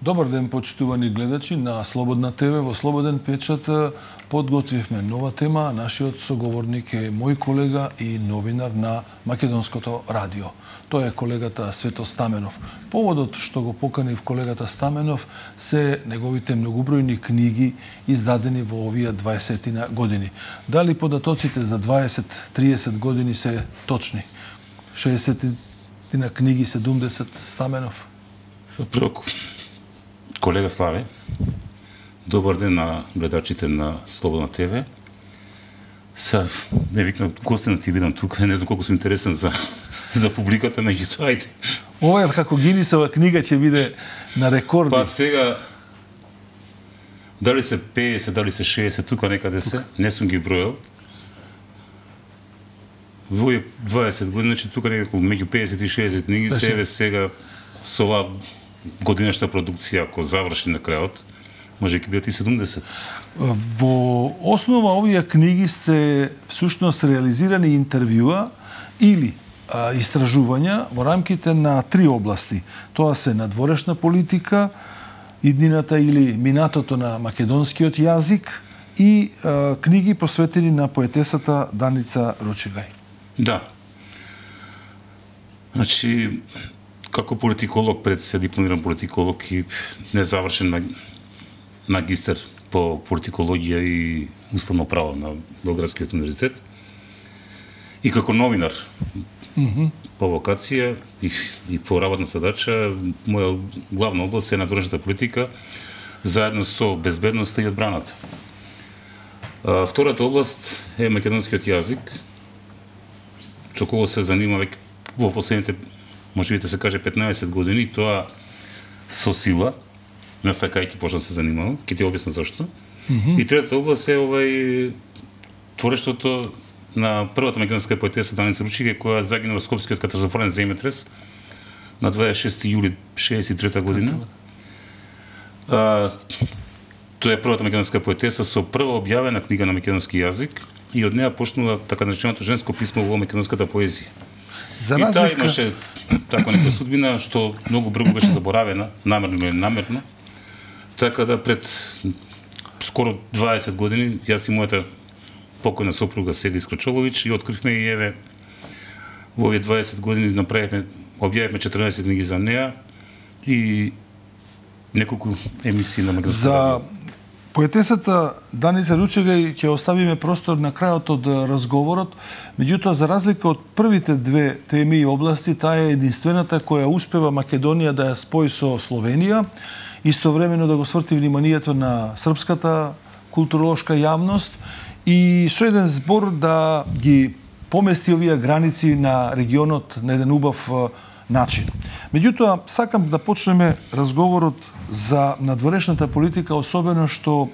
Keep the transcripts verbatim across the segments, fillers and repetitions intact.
Добар ден, почитувани гледачи на Слободна ТВ. Во Слободен печат подготвивме нова тема. Нашиот соговорник е мој колега и новинар на Македонското радио. Тој е колегата Свето Стаменов. Поводот што го поканив колегата Стаменов се неговите многобројни книги издадени во овие дваесетина години. Дали податоците за дваесет-триесет години се точни? шеесетина книги, седумдесет Стаменов? Прво, колега Славе, добар ден на гледачите на Слободна ТВ. Са, не викнам гостина ти видам тука, не знам колку сум интересен за за публиката, меѓутоа ајде. Ова е како Гинисова книга ќе биде на рекорди. Па сега дали се пеесет, дали се шеесет, тука некаде се, не сум ги бројал. Во дваесет години, значи тука некако меѓу пеесет и шеесет книги, се еве сега со оваа годинашта продукција, ако заврши на крајот, може ќе бидат и седумдесет. Во основа овие книги се всушност реализирани интервјуа или а, истражувања во рамките на три области. Тоа се надворешна политика, иднината или минатото на македонскиот јазик и а, книги посветени на поетесата Даница Ручегај. Да. Значи, како политиколог, пред се дипломиран политиколог и незавршен магистер по политикологија и уставно право на Белградскиот универзитет. И како новинар mm -hmm. по вокација и, и по работна задача, моја главна област е надворешната политика, заедно со безбедноста и одбраната. А, втората област е македонскиот јазик, со кого се занимава во последните, може би да се каже, петнаесет години, тоа со сила, не сакајќи почна да се занимава, ќе ти објаснам зашто. Mm -hmm. И третата област е овај творештвото на првата македонска поетеса Даница Ручегај, која загина во Скопскиот катастрофален земјотрес на дваесет и шести јули шеесет и трета година. А, тоа е првата македонска поетеса со прва објавена книга на македонски јазик и од неа почнува така нареченото женско писмо во македонската поезија. За разлика... И таа имаше така нека судбина што многу брзо беше заборавена, намерно или намерно. Така да пред скоро дваесет години јас и мојата покојна сопруга Сега Искрачолович и откривме и еве во овие дваесет години направивме, објавивме четрнаесет книги за неа и неколку емисии на македонски радио. Поетесата Даница Ручегај ќе оставиме простор на крајот од разговорот, меѓутоа за разлика од првите две теми и области, таа е единствената која успева Македонија да ја спои со Словенија, истовремено да го сврти вниманието на српската културолошка јавност и со еден збор да ги помести овие граници на регионот на еден убав начин. Меѓутоа, сакам да почнеме разговорот за надворешната политика, особено што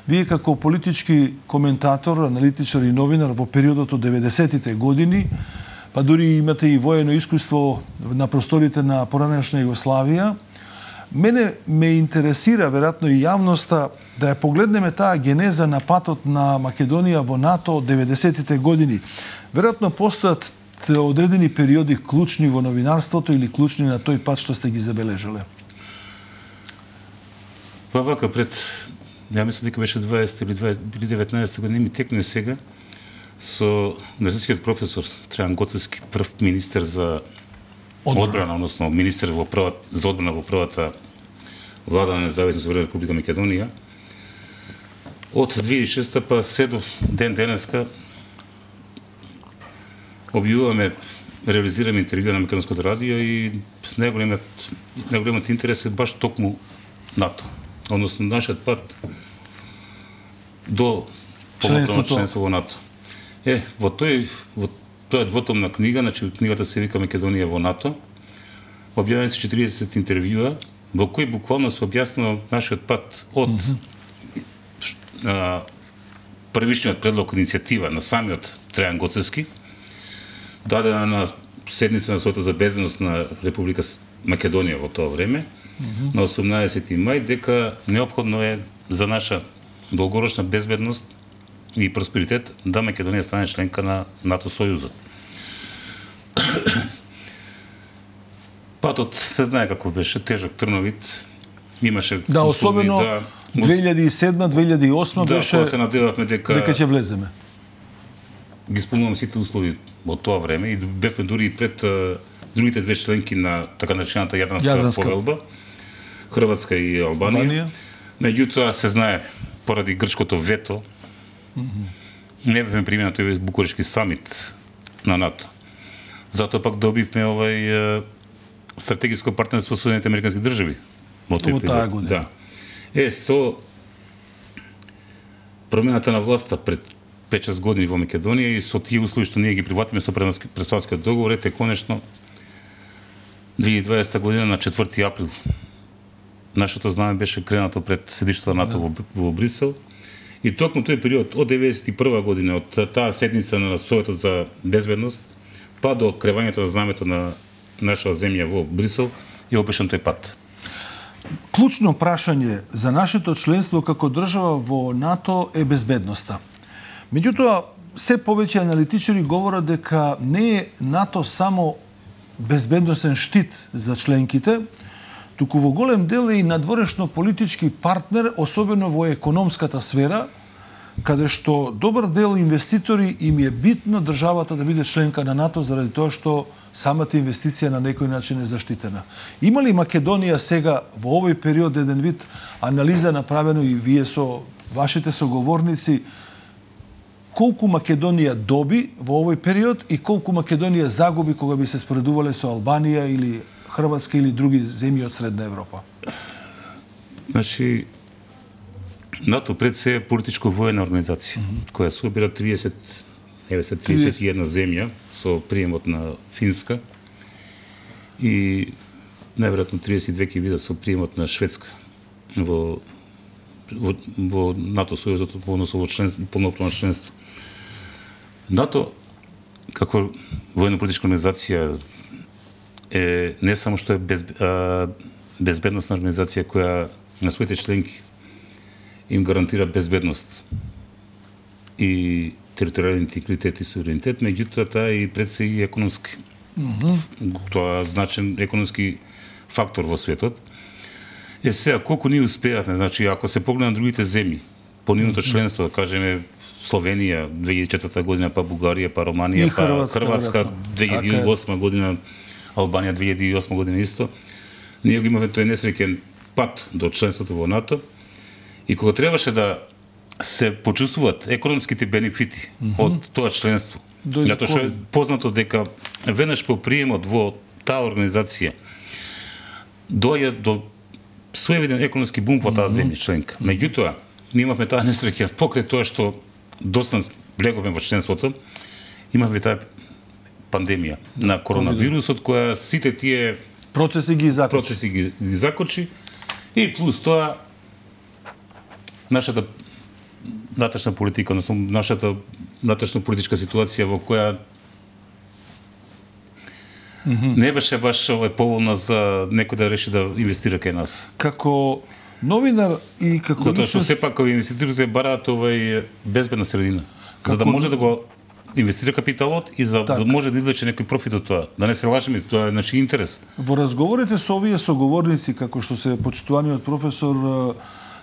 вие како политички коментатор, аналитичар и новинар во периодот од деветдесетите години, па дури имате и воено искуство на просторите на поранешна Југославија, мене ме интересира, веројатно и јавноста, да ја погледнеме таа генеза на патот на Македонија во НАТО од деветдесетите години. Веројатно постојат одредени периоди клучни во новинарството или клучни на тој пат што сте ги забележале? Па вака, пред, ја мислам дека беше дваесет или деветнаесет години, ми текне сега со универзитетскиот професор Трајан Гоцевски, прв министер за одбрана, одбрана односно министер во прва, за одбрана во првата влада на Независна суверена република Македонија. Од две илјади и шеста па се до ден денеска објавуваме, реализираме интервјуа на Македонското радио и најголемиот најголемиот интерес е баш токму НАТО, односно нашиот пат до полноправно членство во НАТО. Е, во тој во тоа двотомна книга, значи книгата се вика Македонија во НАТО, објавени се четиридесет интервјуа во кои буквално се објаснува нашиот пат од mm -hmm. а, првичниот предлог иницијатива на самиот Трајан Гоцевски, дадена на седница на Советот за безбедност на Република Македонија во тоа време, mm -hmm. на осумнаесети мај, дека неопходно е за наша долгорочна безбедност и просперитет да Македонија стане членка на НАТО Сојузот. Патот се знае како беше, тежок, трновит, имаше Да, особено да, две илјади и седма две илјади и осма да, беше кога се надевавме дека дека ќе влеземе. Ги исполнуваме сите услови од тоа време и бевме дури и пред а, другите две членки на така наречената Јадранска, Јадранска повелба, Хрватска и Албанија. Албанија. Меѓутоа се знае поради грчкото вето, mm -hmm. не бевме примени на тој Букурешки самит на НАТО. Затоа пак добивме овај стратегиско партнерство со Соединетите американски држави во тој период. Да. Е, со промената на власта пред пет-шест години во Македонија и со тие услови што ние ги прифатиме со Престојанскиот договор, ете конечно две илјади и дваесета година на четврти април нашето знаме беше кренато пред седиштето на НАТО да. во, во Брисел. И токму тој период од деветдесет и прва година, од таа седница на Советот за безбедност, па до кревањето на знамето на нашава земја во Брисел, е опишан тој пат. Клучно прашање за нашето членство како држава во НАТО е безбедноста. Меѓутоа, се повеќе аналитичари говорат дека не е НАТО само безбедносен штит за членките, туку во голем дел е и надворешно политички партнер, особено во економската сфера, каде што добар дел инвеститори им е битно државата да биде членка на НАТО заради тоа што самата инвестиција на некој начин е заштитена. Има ли Македонија сега во овој период еден вид анализа направено и вие со вашите соговорници колку Македонија доби во овој период и колку Македонија загуби кога би се споредувале со Албанија или Хрватска или други земји од Средна Европа? Значи, НАТО пред се е политичко-воена организација, mm -hmm. која собира триесет, триесет и една земја со приемот на Финска и најверојатно триесет и две ќе бидат со приемот на Шведска во во, во НАТО сојузот, односно во членство, полноправно членство. НАТО како воено-политичка организација е не само што е без, а, безбедносна организација која на своите членки им гарантира безбедност и територијален интегритет и суверенитет, меѓутоа таа и пред се и економски. Mm -hmm. Тоа е значен економски фактор во светот. Е сега, колку ние успеавме, значи, ако се погледнат другите земји, по нивното членство, да кажеме, Словенија две илјади и четврта година, па Бугарија, па Романија, па Хрватска, Хрватска две илјади и осма година, Албанија две илјади и осма година исто, ние го имаме тој несреќен пат до членството во НАТО и кога требаше да се почувствуваат економските бенефити mm -hmm. од тоа членство, затоа што е познато дека веднаш по приемот во таа организација доаѓа до своевиден економски бум во таа земја членка. Меѓутоа, ние имавме таа несреќа покрај тоа што доста влеговме во членството, имавме таа пандемија на коронавирусот која сите тие процеси ги закочи. Процеси ги, ги закочи и плюс тоа нашата натрешна политика, односно нашата натрешна политичка ситуација во која mm -hmm. не беше баш овој поволна за некој да реши да инвестира кај нас. Како новинар и како затоа што сепак инвеститорите бараат овај безбедна средина, како... за да може да го инвестира капиталот и за так. да може да извлече некој профит од тоа. Да не се лажеме, тоа е значи интерес. Во разговорите со овие соговорници, како што се почитуваниот професор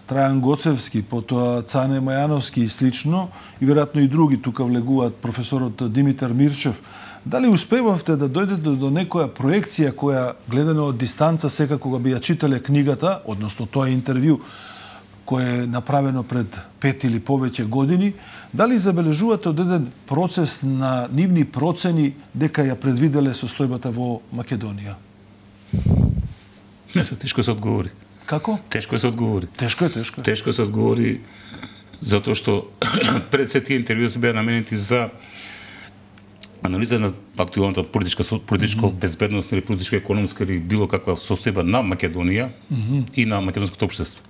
Трајан Гоцевски, потоа Цане Мајановски и слично, и веројатно и други тука влегуваат професорот Димитар Мирчев, дали успевавте да дојдете до некоја проекција која гледана од дистанца сега кога би ја читале книгата, односно тоа интервју кој е направено пред пет или повеќе години, дали забележувате од еден процес на нивни процени дека ја предвиделе состојбата во Македонија? Не се, тешко се одговори. Како? Тешко се одговори. Тешко е, тешко е. Тешко се одговори затоа што пред се тие интервјуи се беа наменети за анализа на актуелната политичка политичка mm -hmm. безбедност или политичка економска или било каква состојба на Македонија mm -hmm. и на македонското општество.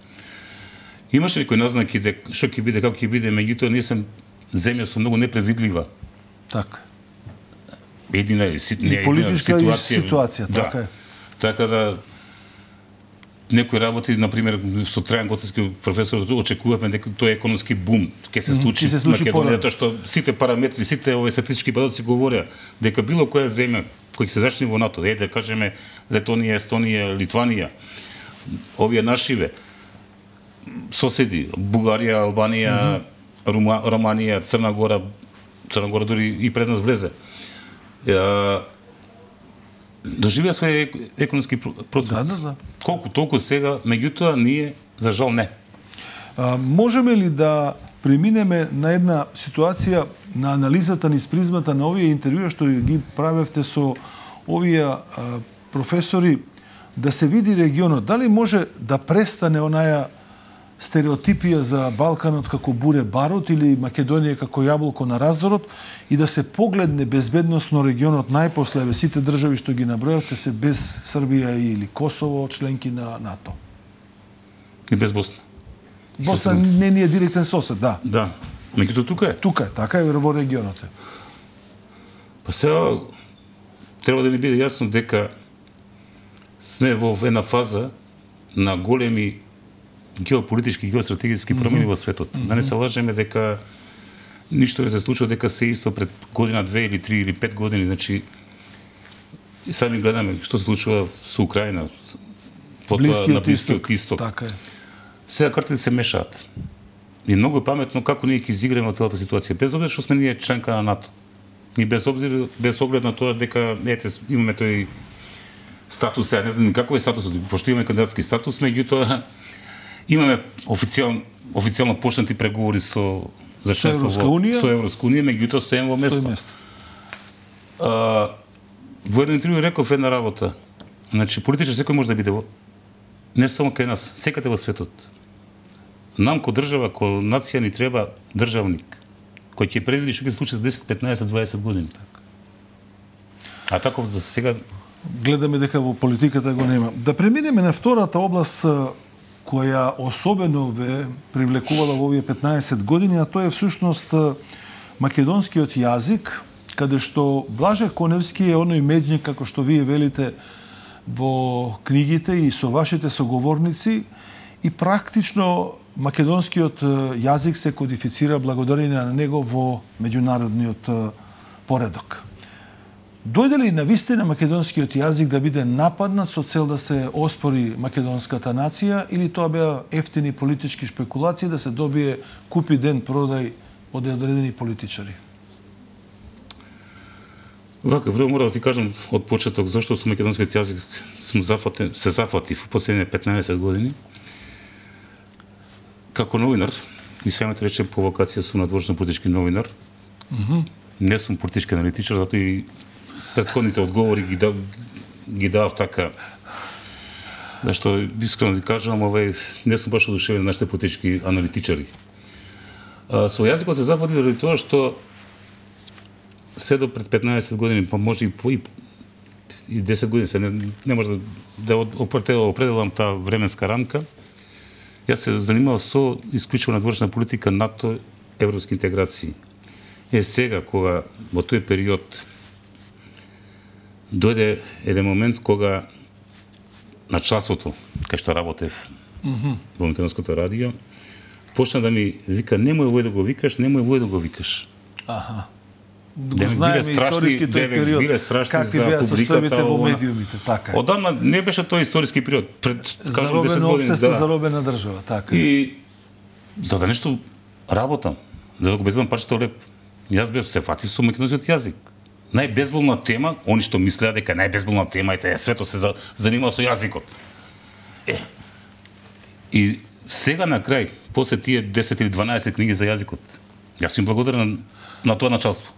Имаше некои назнаки дека што ќе биде, како ќе биде, меѓутоа ние сме земја со многу непредвидлива. Така. Едина е не политичка ситуација, ситуација да. така е. Така да некои работи, на пример, со Трајан Гоцевски професор, очекувавме дека тој економски бум ќе се случи во Македонија, тоа што сите параметри, сите овие статистички податоци говореа дека било која земја која ќе се зачне во НАТО, е да кажеме Летонија, Естонија, Литванија, овие нашиве соседи, Бугарија, Албанија, mm -hmm. Рума, Романија, Црна Гора, Црна Гора дури и пред нас влезе. Ја, доживеа свој економски процес. Да, да, да. Колку толку сега, меѓутоа ние за жал не. А, можеме ли да преминеме на една ситуација на анализата низ призмата на овие интервјуа што ги правевте со овие а, професори, да се види регионот, дали може да престане онаја стереотипија за Балканот како буре барут или Македонија како јаболко на раздорот и да се погледне безбедносно регионот најпосле, еве сите држави што ги набројавте се без Србија или Косово, членки на НАТО. И без Босна. Босна не ни е директен сосед, да. Да. Меѓутоа тука е. Тука е, така е во регионот е. Па сега треба да ни биде јасно дека сме во една фаза на големи геополитички и геостратегиски промени mm -hmm. во светот. Mm -hmm. Да не се лажеме дека ништо не се случува, дека се исто пред година, две или три или пет години. Значи, и сами гледаме што се случува со Украина, потоа на Блискиот исток. Така е. Сега картите се мешаат. И многу е паметно како ние ќе изиграме целата ситуација, без обзир што сме ние членка на НАТО. И без обзир, без оглед на тоа дека ете имаме тој статус, сега не знам каков е статусот, пошто имаме кандидатски статус, меѓутоа имаме официјално официјално почнати преговори со за членство со Европска со Европска унија, меѓутоа стоеме во место. А, во едно интервју реков една работа. Значи политичар секој може да биде во не само кај нас, секаде во светот. Нам ко држава, ко нација ни треба државник кој ќе предвиди што ќе се случи за десет, петнаесет, дваесет години. А таков за сега гледаме дека во политиката го нема. Да преминеме на втората област која особено ве привлекувала во овие петнаесет години, а тоа е всушност македонскиот јазик, каде што Блаже Коневски е оној меѓник, како што вие велите во книгите и со вашите соговорници, и практично македонскиот јазик се кодифицира благодарение на него во меѓународниот поредок. Дојде ли навистина македонскиот јазик да биде нападнат со цел да се оспори македонската нација, или тоа беа ефтини политички шпекулации да се добие купи ден продај од одредени политичари? Вака, прво мора да ти кажам од почеток зашто со македонскиот јазик сум зафатен, се зафатив во последните петнаесет години. Како новинар, и сега ме речем по вокација сум надворешен политички новинар. Mm -hmm. Не сум политички аналитичар, затоа и претходните одговори ги дав, ги дав така. Зашто искрено да кажам, овај не сум баш одушевен на нашите политички аналитичари. А, со јазикот се зафатив заради тоа што се до пред петнаесет години, па може и по и, и десет години, се не, не може да, да определам таа временска рамка. Јас се занимавам со исклучиво надворешна политика НАТО, европски интеграции. Е сега кога во тој период дојде еден момент кога на часото кај што работев mm -hmm. во македонското радио, почна да ми вика немој овој да го викаш, немој овој да го викаш. Аха. Го знаеме историски тој период, биле страшни какви беа состојбите во медиумите, така е. Одамна не беше тој историски период, пред кажам десет години, да. Заробена држава, така. И за да нешто работам, за да го безбедам парчето леп, јас бев се фатив со македонскиот јазик. Најбезболна тема, они што мислеа дека најбезболна тема е таа светот се занимава со јазикот. Е. И сега на крај, после тие десет или дванаесет книги за јазикот, јас сум благодарен на тоа началство.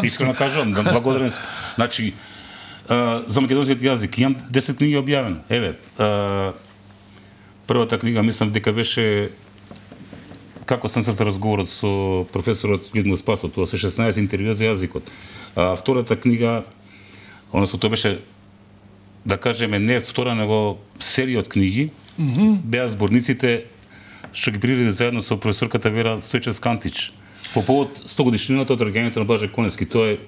Искрено кажувам, да благодарен. Значи, а, за македонскиот јазик имам десет книги објавено. Еве, а, првата книга мислам дека беше како сам црта разговорот со професорот Людмил Спасов, тоа се шеснаесет интервјуа за јазикот. А, втората книга, односно тоа беше, да кажеме, не втора, него серија од книги, mm -hmm. беа зборниците што ги приреди заедно со професорката Вера Стојчевска-Антич по повод сто годишнината од роѓењето на Блаже Коневски. Тоа е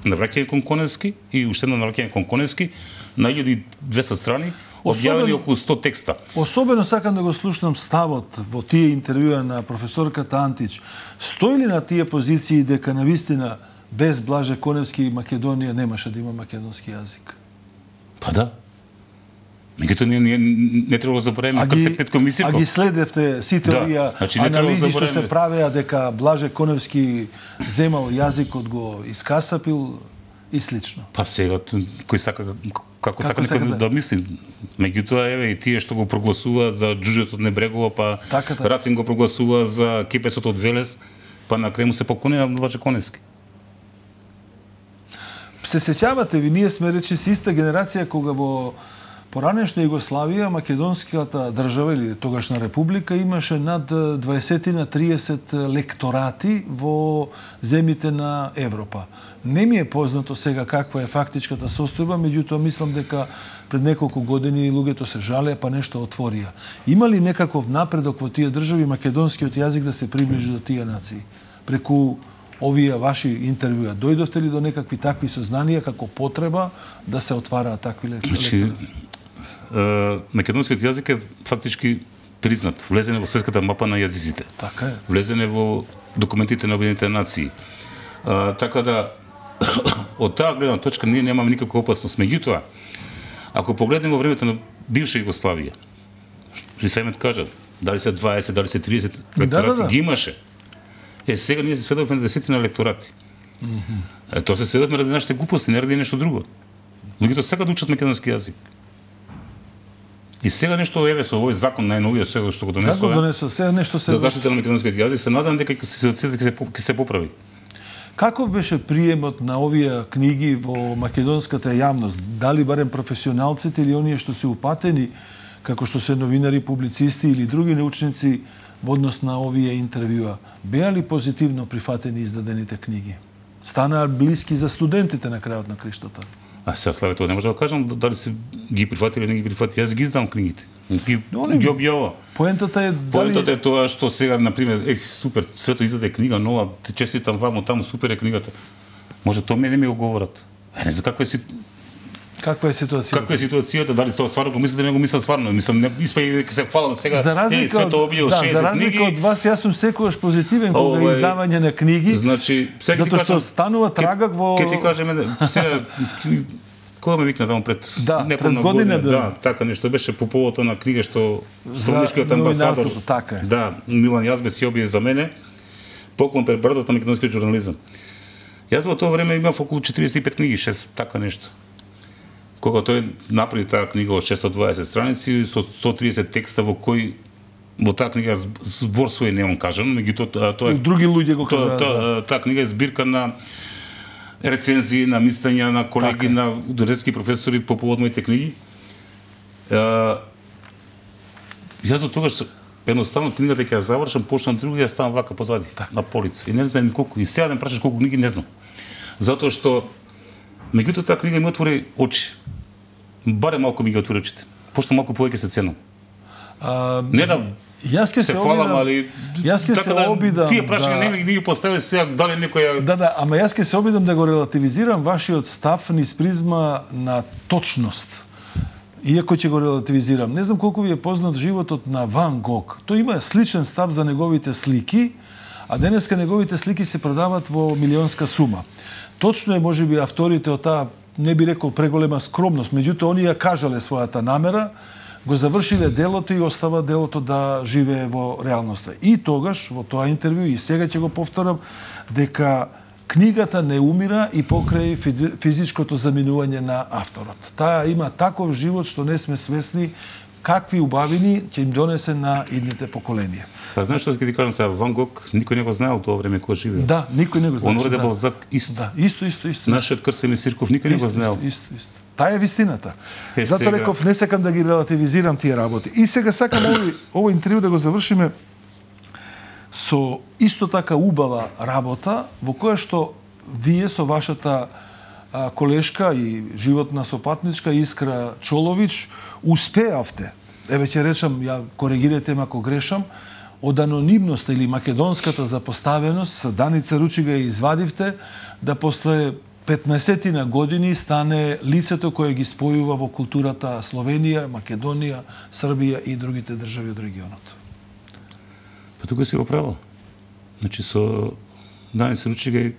навраќање кон Коневски и уште едно навраќање кон Коневски на илјада и двесте страни, објавени околу сто текста. Особено сакам да го слушнам ставот во тие интервјуа на професорката Антич. Стои ли на тие позиции дека навистина без Блаже Коневски Македонија немаше да има македонски јазик? Па да. Меѓутоа не, не, не треба да забораваме крстек пред комисија. А ги следевте сите да, овие значи, анализи што да се правеа дека Блаже Коневски земал јазикот го искасапил и слично. Па сега кој сака како, како сака некој да, да мисли. Меѓутоа еве и тие што го прогласуваат за џуџето од Небрегова, па така, така. Рацин го прогласува за кепецот од Велес, па на крај му се поклони на Блаже Коневски. Се сеќавате ви, ние сме речи си иста генерација кога во поранешна Југославија, македонската држава или тогашна република имаше над дваесет на триесет лекторати во земјите на Европа. Не ми е познато сега каква е фактичката состојба, меѓутоа мислам дека пред неколку години луѓето се жалеа па нешто отворија. Има ли некаков напредок во тие држави македонскиот јазик да се приближи до тие нации? Преку овие ваши интервјуа дојдовте ли до некакви такви сознанија како потреба да се отвараат такви лекторати? Македонскиот јазик е фактички признат, влезене во светската мапа на јазиците. Така е. Влезене во документите на Обединетите нации. А, така да од таа гледна точка ние немаме никаква опасност. Меѓутоа, ако погледнеме во времето на бивша Југославија, што самиот кажа, дали се дваесет, дали се триесет лекторати, да, да, да. ги имаше. Е, сега ние се сведовме на десетина лекторати. Mm -hmm. Е, тоа се сведовме ради нашите глупости, не ради нешто друго. Луѓето сакаат да учат македонски јазик. И сега нешто еве со овој закон најновиот сега што го донесува. Како донесува? Сега нешто се за заштита на македонскиот јазик, се надам дека ситуацијата ќе се ќе се поправи. Каков беше приемот на овие книги во македонската јавност? Дали барем професионалците или оние што се упатени, како што се новинари, публицисти или други научници во однос на овие интервјуа, беа ли позитивно прифатени издадените книги? Станаа блиски за студентите на крајот на криштото? А сега славе тоа не може да кажам дали се ги прифатили или не ги прифатили. Јас ги издавам книгите. Ги, ги објавам. Поентата е дали... Поентата е тоа што сега на пример, ех, супер, свето издаде книга нова, те честитам ваму таму, супер е книгата. Може тоа мене ми го говорат. Е, не знам каква е си Каква е ситуацијата? Каква е ситуацијата? Дали тоа стварно го мислите, не го мислам стварно. Мислам, не испај дека се фалам сега. За разлика од, да, за разлика од вас, јас сум секогаш позитивен кога е издавање на книги. Значи, сега затоа што станува трагак во... Ке ти кажеме, сега, кога ме викна таму пред да, неполна година, година, да. да, така нешто беше по повод на книга што Столичкиот амбасадор, така е. Да, Милан Јазбец ја објави за мене, поклон пред брадата на македонскиот журнализам. Јас во тоа време имав околу четириесет и пет книги, шест така нешто. Кога тој направи таа книга од шестстотини и дваесет страници со сто триесет текста во кој во таа книга збор свој немам кажано, меѓутоа тоа други луѓе го кажаа. Таа та книга е збирка на рецензии, на мислења на колеги, така, на универзитетски професори по повод моите книги. Јас до тогаш едноставно книгата ќе ја завршам, почнам други, ја ставам вака позади, так, на полица. И не знам колку, и сега да ме прашаш колку книги, не знам. Затоа што меѓутоа таа книга ми отвори очи. Барем малку ми ги отвори очите. Пошто малку повеќе се ценам. А, не да јас ке се, се фалам, али јас ке се да, обидам. Тие прашања да, не ми ги постави сега дали некој. Да, да, ама јас ке се обидам да го релативизирам вашиот став низ призма на точност. Иако ќе го релативизирам, не знам колку ви е познат животот на Ван Гог. Тој има сличен став за неговите слики, а денеска неговите слики се продават во милионска сума. Точно е, можеби, авторите од таа, не би рекол преголема скромност, меѓутоа они ја кажале својата намера, го завршиле делото и остава делото да живее во реалноста. И тогаш, во тоа интервју, и сега ќе го повторам, дека книгата не умира и покрај физичкото заминување на авторот. Таа има таков живот што не сме свесни какви убавини ќе им донесе на идните поколенија. Па знаеш што ќе ти кажам сега, Ван Гог никој не го знаел тоа време кога живеел. Да, никој не го знаел. Онор де Балзак исто. Да, исто, исто, исто. Нашиот Крстен Сирков никој не го знаел. Исто, исто, исто. Таа е вистината. Е, затоа сега... реков, не сакам да ги релативизирам тие работи. И сега сакам овој овој интервју да го завршиме со исто така убава работа во која што вие со вашата а, колешка и животна сопатничка Искра Чолович успеавте. Еве ќе речам, ја коригирате ме ако грешам, од анонимноста или македонската запоставеност со Даница Ручига ја извадивте да после петнаесет години стане лицето кое ги спојува во културата Словенија, Македонија, Србија и другите држави од регионот. Па тука си го право. Значи со Даница Ручига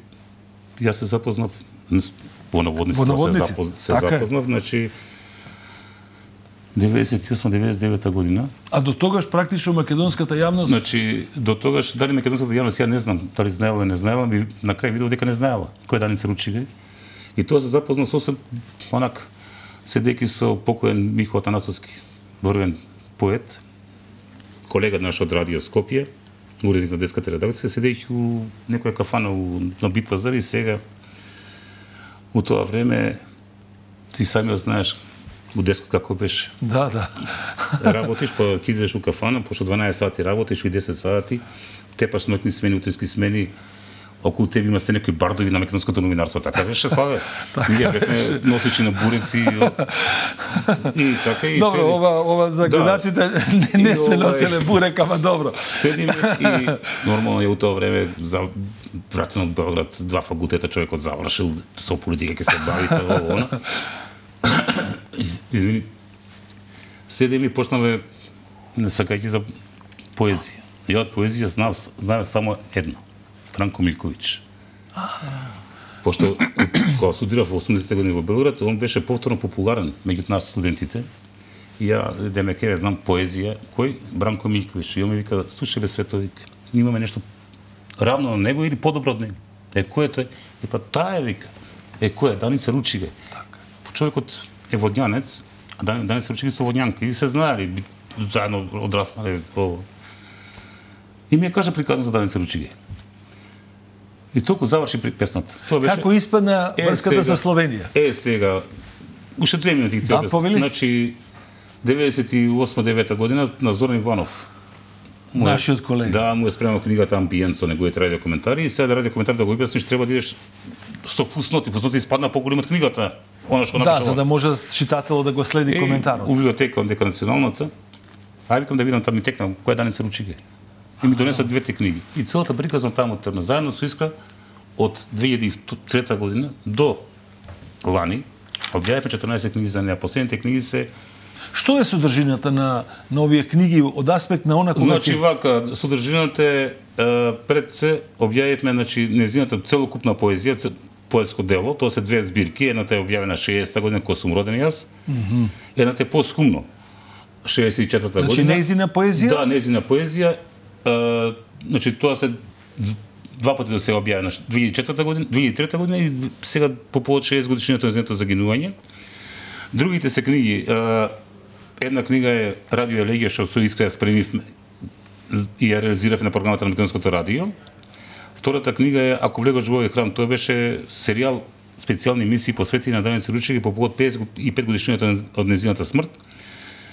јас се запознав во наводниците, се, запоз... се така запознав, значи деветдесет и осма деветдесет и девета година. А до тогаш практично македонската јавност... Значи, до тогаш, дали македонската јавност, ја не знам, дали знаела или не знаела, би на крај видов дека не знаела кој е Даница Ручига. И тоа се запозна сосем, онак, седејќи со покоен Михо Атанасовски, врвен поет, колега наш од Радио Скопје, уредник на детската редакција, седејќи у некоја кафана у, на Бит пазар и сега, у тоа време, ти сами знаеш, у дескот како беше. Да, да. Работиш, па ќе идеш у кафана, пошто дванаесет сати работиш и десет сати, тепаш ноќни смени, утрински смени, околу тебе има се некои бардови на македонското новинарство, така беше, славе. Ние бевме носичи на буреци и така и добро, седи... ова ова за гледачите да. не, не сме носеле бурек, ама добро. Седиме и нормално е у тоа време за вратен од Белград, два факултета човекот завршил, со политика ќе се бави тоа она. Извини. Седиме и почнаме не сакајќи за поезија. Ја од поезија знав, знав само едно. Франко Милковиќ. Пошто кога студирав во осумдесетте години во Белград, он беше повторно популарен меѓу нас студентите. И ја демеке знам поезија, кој Бранко Милковиќ. И он ми вика, слушај бе Световик, имаме нешто равно на него или подобро од него. Е кој е тој? И па таа е вика. Е кој е Даница Ручига. Така. Човекот е водњанец, а Даница Ручига исто водњанка и се знаели, заедно одраснале ово. И ми ја кажа приказна за Даница Ручига. И толку заврши при песната. Тоа беше... Како испадна врската со Словенија? Е, сега, уште две минути да, повели. Значи, деветдесет и осма девета година на Зоран Иванов. Му е, нашиот колега. Да, му е спремал книгата Амбиент со неговите радио коментари и сега да радио коментар да го објасниш, треба да идеш со фусноти. Фусноти испадна поголем од книгата. Она што да, за да може читателот да го следи е, коментарот. У библиотека дека националната. Ај викам да видам таму ми текна која е Даница Ручига. И ми донесоа двете книги. И целата приказна таму трна заедно со Искра од две илјади и трета година до лани објавивме четрнаесет книги за неа. Последните книги се... Што е содржината на, на овие книги од аспект на она кога... Значи, вака, содржината е, пред се објавивме, значи, незината целокупна поезија, поетско дело, тоа се две збирки, едната е објавена шеесета година, кога сум роден јас, mm -hmm. едната е поскумно, шеесет и четврта значи, година. Значи, нејзина поезија? Да, нејзина поезија. Uh, значи тоа се два пати да се објави на две илјади и четврта година, две илјади и трета година и сега по повод шеесет годишнината на нејзиното загинување. Другите се книги, uh, една книга е Радио Елегија што со Искра ја спремивме и ја реализиравме на програмата на Македонското радио. Втората книга е Ако влегаш во овој храм, тоа беше серијал специјални емисии посветени на Даница Ручига по повод педесет и пет годишнината од нејзината смрт.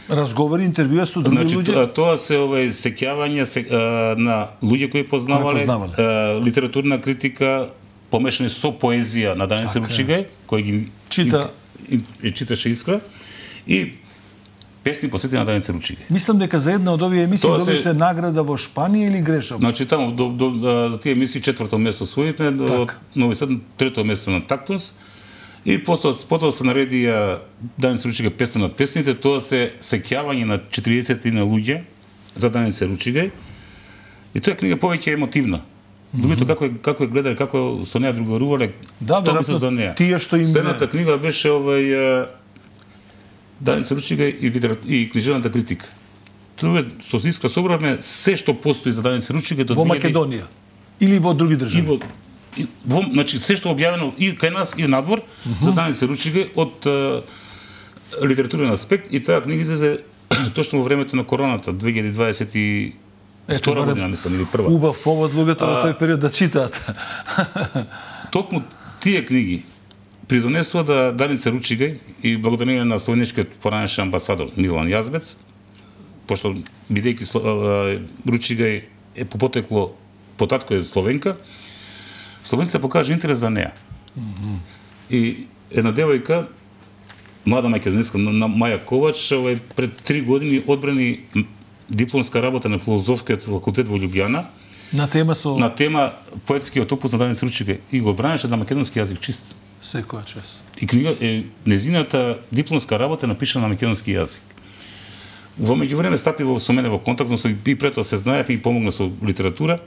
Разговори, интервјуа со други значи, луѓе? Тоа се овој сеќавање се, а, на луѓе кои познавале, кои познавале. А, литературна критика помешани со поезија на Даница Ручига, кој ги чита и, и, и читаше Искра и песни посветени на Даница Ручига. Мислам дека за една од овие емисии Тоа добивте се... награда во Шпанија или грешам? Значи таму до, до, до, за тие емисии четврто место освоивме, до Нови Сад трето место на Тактунс. И потоа, потоа се нареди Даница Ручига песна над песните, тоа се сеќавање на четириесет на луѓе за Даница Ручига. И тоа е книга повеќе емотивна. Луѓето mm -hmm. како како е гледале, како со неа другарувале, да, што мислат за неа. Тие што им Следната книга беше овој Даница Ручига и, литера... и книжевната критика. Тоа со Искра собравме се што постои за Даница Ручига до во Македонија или во други држави. И во И, во, значи се што објавено и кај нас и надвор uh -huh. за Даница Ручига од uh, литературен аспект и таа книга излезе точно во времето на короната две илјади дваесет и втора година мислам или прва. Убав повод луѓето во тој период да читаат. Токму тие книги придонесува да Даница Ручига и благодарение на словеничкиот поранешен амбасадор Милан Јазбец, пошто бидејќи Ручига е по потекло по татко е словенка, словенците покажа интерес за неа. Mm -hmm. И една девојка, млада македонска, Маја Ковач, овај пред три години одбрани дипломска работа на филозофскиот факултет во Љубљана. На тема со на тема поетскиот опус на Даница Ручига и го бранеше на македонски јазик чист. Секоја чест. И книга е незината дипломска работа напишана на македонски јазик. Во меѓувреме стапи во со мене во контакт, но и пред тоа се знаев и помогна со литература.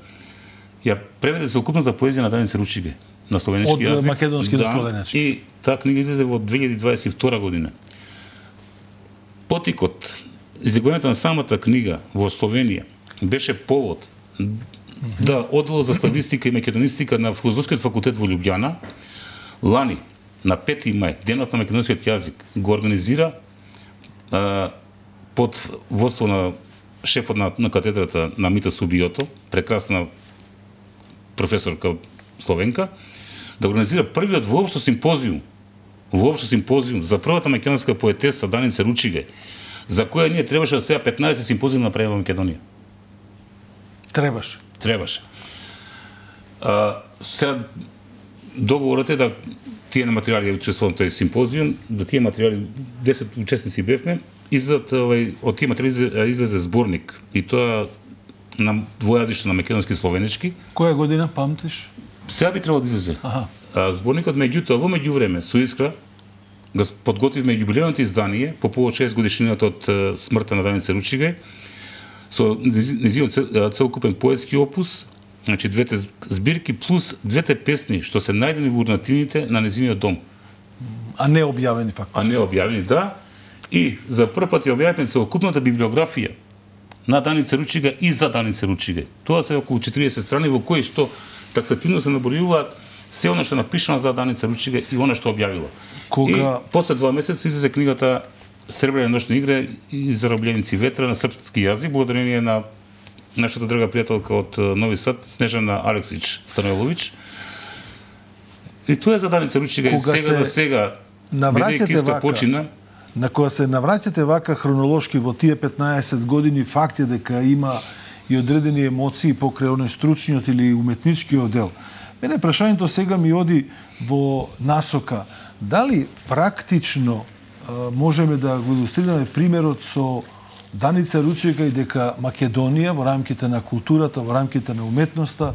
Ја преведе целокупната поезија на Даница Ручига на словенички јазик. Од македонски да, на словенички. И таа книга излезе во две илјади дваесет и втора година. Потикот, излегувањето на самата книга во Словенија беше повод да оддел за славистика и македонистика на Филозофскиот факултет во Лјубљана лани на пети мај, денот на македонскиот јазик, го организира а, под водство на шефот на, на катедрата на Мита Субиото, прекрасна професорка словенка, да организира првиот воопшто симпозиум, воопшто симпозиум за првата македонска поетеса Даница Ручиге, за која ние требаше да сега петнаесет симпозиум направи во Македонија. Требаше. Требаше. А, сега договорот е да тие на материјали учествувам тој симпозиум, да тие материјали, десет учесници бевме, излезат овај од тие материјали излезе зборник и тоа на двојазично на македонски и словенички. Која година памтиш? Сега би требало да излезе. Аха. А, зборникот меѓутоа во меѓувреме со Искра го подготвивме јубилејното издание по повод шест годишнината од смртта на Даница Ручиге со нејзиниот целокупен поетски опус, значи двете збирки плюс двете песни што се најдени во урнатините на нејзиниот дом. А не објавени фактично. А не објавени, да. И за прв пат ја објавивме целокупната библиографија на Даница Ручига и за Даница Ручиге. Тоа се околу четириесет страни во кои што таксативно се набројуваат се она што напишано за Даница Ручига и она што објавила. Кога... И после два месеца излезе книгата Сребрена ношна игра и Заробљеници ветра на српски јазик, благодарение на нашата драга пријателка од Нови Сад, Снежана Алексич Станојловиќ. И тоа е за Даница Ручига и сега да сега, бидејќи Искра почина, на која се навраќате вака хронолошки во тие петнаесет години, факт е дека има и одредени емоции покрај оној стручниот или уметничкиот дел. Мене прашањето сега ми оди во насока. Дали практично можеме да го илустрираме примерот со Даница Ручига и дека Македонија во рамките на културата, во рамките на уметноста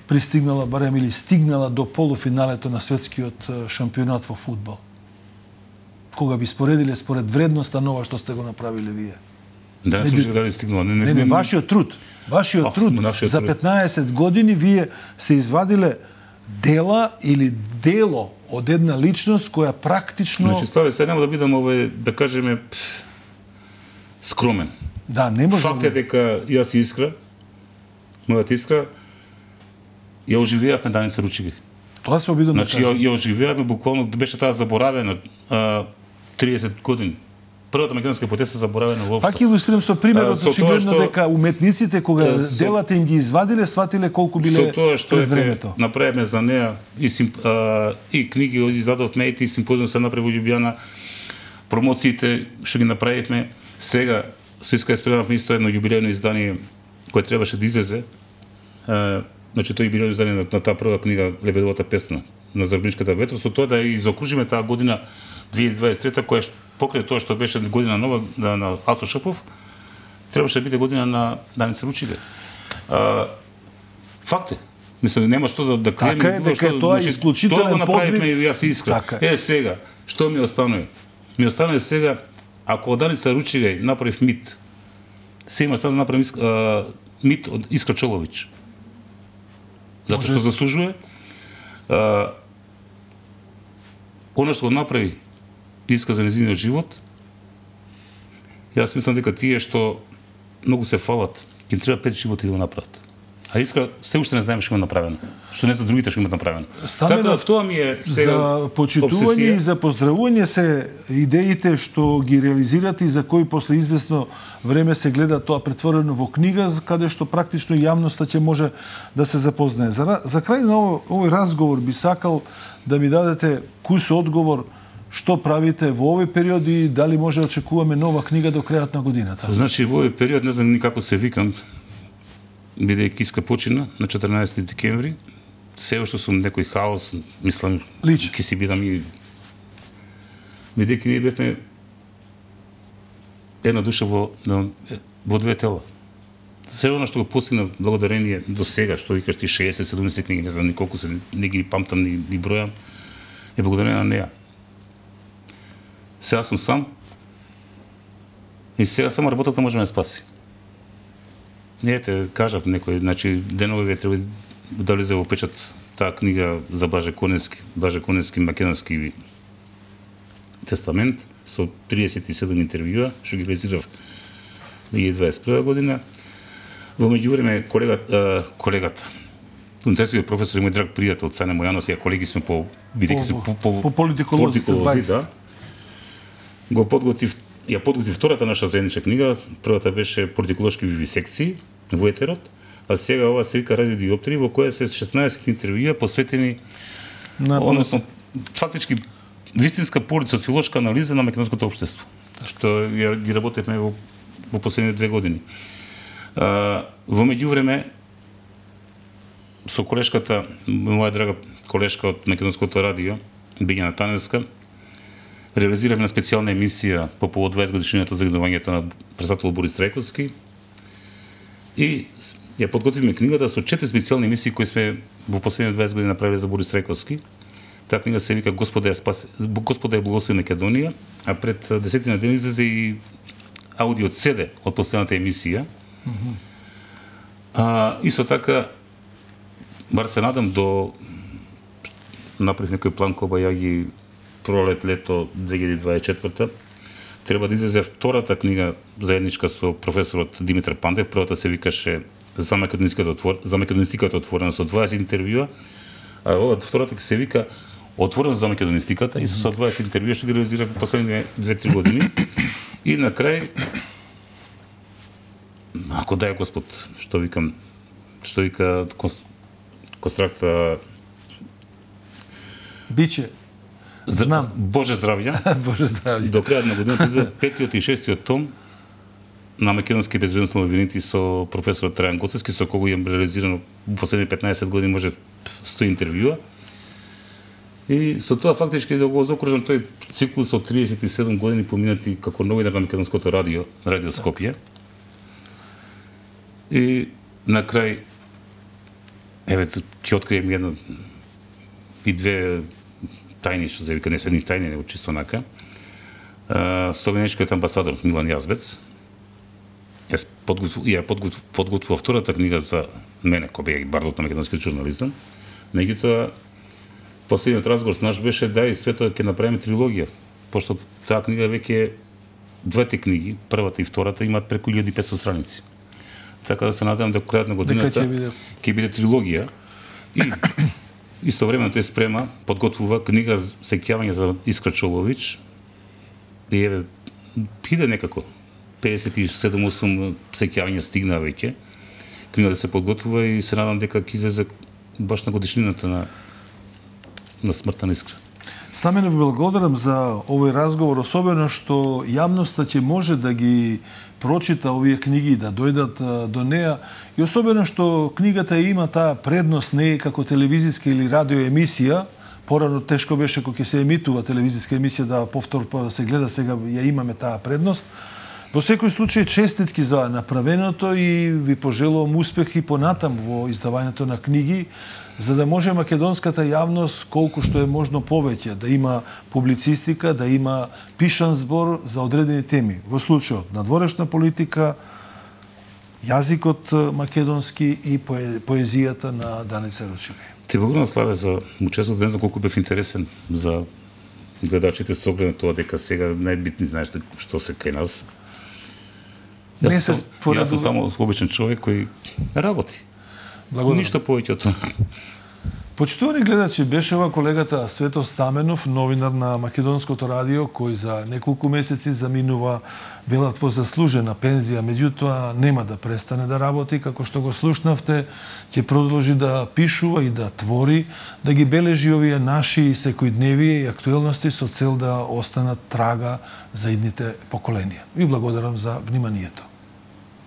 пристигнала барем или стигнала до полуфиналето на светскиот шампионат во фудбал? Кога би споредиле според вредноста на ова што сте го направиле вие? Да, не слушах дали стигнала. Не, не, не, не, вашиот труд. Вашиот oh, труд. За петнаесет години вие се извадиле дела или дело од една личност која практично... Значи, стави, сега нема да бидам, овој, да кажеме, скромен. Да, не може. Факт е дека јас и Искра, мојата Искра, ја оживеавме Даница Ручига. Тоа се обидам значи, да кажем. Ја, ја оживеавме, буквално беше таа заборавена а, триесет години. Првата македонска поетеса заборавена воопшто. Пак илустрирам со примерот, очигледно што... дека уметниците кога со... делата им ги извадиле, сватиле колку биле со тоа што пред времето. Направиме за неа и, симп... а, и книги издадовме и симпозиум се направи во Љубљана, промоциите што ги направивме. Сега се иска спремавме исто едно јубилејно издание кое требаше да излезе. А, значи тоа јубилејно издание на, на таа прва книга Лебедовата песна на Заробљеничката ветра, со тоа да ја изокружиме таа година две илјади дваесет и трета, која покрај тоа што беше година нова на, на Ацо Шопов, требаше да биде година на Даница Ручига. А, факт е. Мислам, нема што да, да криеме. Така е, дека е тоа исклучителен подвиг. Тоа го направивме и јас и Искра. Така. Е, сега, што ми останува? Ми останува сега, ако од Даница Ручига направив мит, се има сега да направим а, мит од Искра Чоловиќ. Затоа што заслужува. А, Оно што го направи Искра за нејзиниот живот, јас мислам дека тие што многу се фалат, ќе им треба пет животи да го направат. А Искра се уште не знаеме што има направено. Што не за другите што имаат направено. Така тоа ми е сега за почитување и за поздравување се идеите што ги реализирате и за кои после известно време се гледа тоа претворено во книга, каде што практично јавноста ќе може да се запознае. За, за крај на овој, овој разговор би сакал да ми дадете кус одговор што правите во овој период и дали може да очекуваме нова книга до крајот на годината. Значи во овој период не знам никако се викам, бидејќи Искра почина на четрнаесети декември, се уште сум некој хаос, мислам, ќе си бидам и бидејќи ние бевме една душа во, во две тела. Се оно што го постигна благодарение до сега, што викаш ти шеесет седумдесет книги, не знам ни колку се, не ги памтам, ни, ни бројам, е благодарение на неа. Сега сум сам и сега само работата може да ме спаси. Не те кажав некој, значи денове треба да влезе во печат таа книга за Блаже Коневски, Блаже Коневски македонски тестамент. со триесет и седум интервјуа, што ги реализирав две илјади дваесет и прва година. Во меѓувреме колегата, колегата универзитетскиот професор и мој драг пријател Цане Мојанов, ја колеги сме по бидејќи се по, по, по политиколози, да. Го подготвив, ја подготвив втората наша заедничка книга, првата беше Политиколошки вивисекции во етерот, а сега ова се вика Радиодиоптрии, во која се шеснаесет интервјуа посветени на, односно фактички вистинска политсоциолошка анализа на македонското општество, што ја ги работевме во, во последните две години. А, во меѓувреме со колешката, моја драга колешка од Македонското радио, Биљана Таневска, реализиравме специјална емисија по повод дваесет годишнината за загинувањето на председател Борис Трајковски и ја подготвивме книгата со четири специјални емисии кои сме во последните дваесет години направиле за Борис Трајковски. Таа книга се вика Господа ја спаси, Господа ја благослови Македонија, а пред десетина дни излезе и аудио седе од последната емисија. Mm -hmm. А, исто така, бар се надам до направив некој план кога ја ги пролет лето две илјади дваесет и четврта, треба да излезе втората книга заедничка со професорот Димитар Пандев. Првата се викаше за македонистиката отвор... за македонистиката отворена со дваесет интервјуа, а ова втората ќе се вика Отворена за македонистиката и со дваесет интервјуа што ги реализирав последните две-три години. И на крај, ако дај Господ, што викам, што вика Констракта Биче. Знам. Боже здравје. Боже здравје. До крајот на годината излезе петиот и шестиот том на македонски безбедностни новините со професорот Трајан Гоцевски, со кого имам реализирано во последните петнаесет години може сто интервјуа. И со тоа фактички да го заокружам тој циклус од триесет и седум години поминати како новинар на Македонското радио, Радио Скопје. И на крај, еве, ќе открием една и две тајни, што се вика, не се ни тајни, него чисто нака. Словенечкиот амбасадор Милан Јазбец, јас подготвив, ја подготвив, подготвив втората книга за мене, кој беа бардот на македонскиот журнализам. Меѓутоа, последниот разговор наш беше дај свето ќе направиме трилогија, пошто таа книга веќе двете книги, првата и втората имаат преку илјада и петстотини страници. Така да се надевам дека крајот на годината ќе биде... биде трилогија и истовремено тој спрема, подготвува книга за сеќавање за Искра Чолович и еве иде некако педесет и седум осум сеќавања стигна веќе. Книга да се подготвува и се надам дека ќе излезе баш на годишнината на на смртта на Искра. Стаменов, благодарам за овој разговор, особено што јавноста ќе може да ги прочита овие книги, да дојдат до неа, и особено што книгата има таа предност не како телевизиска или радио емисија. Порано тешко беше кога ќе се емитува телевизиска емисија да повтор да се гледа, сега ја имаме таа предност. Во секој случај честитки за направеното и ви пожелувам успех и понатам во издавањето на книги, за да може македонската јавност колку што е можно повеќе да има публицистика, да има пишан збор за одредени теми. Во случајот надворешна политика, јазикот македонски и поезијата на Даница Ручегај. Ти благодарам, Славе, за учеството. Не знам колку бев интересен за гледачите со оглед на тоа дека сега најбитни знаеш што се кај нас. Јас сум, јас сум само обичен човек кој работи. Благодарам. Ништо повеќе од тоа. Почитувани гледачи, беше ова колегата Свето Стаменов, новинар на Македонското радио, кој за неколку месеци заминува велат во заслужена пензија, меѓутоа нема да престане да работи, како што го слушнавте, ќе продолжи да пишува и да твори, да ги бележи овие наши секојдневие и актуелности со цел да останат трага за идните поколенија. Ви благодарам за вниманието.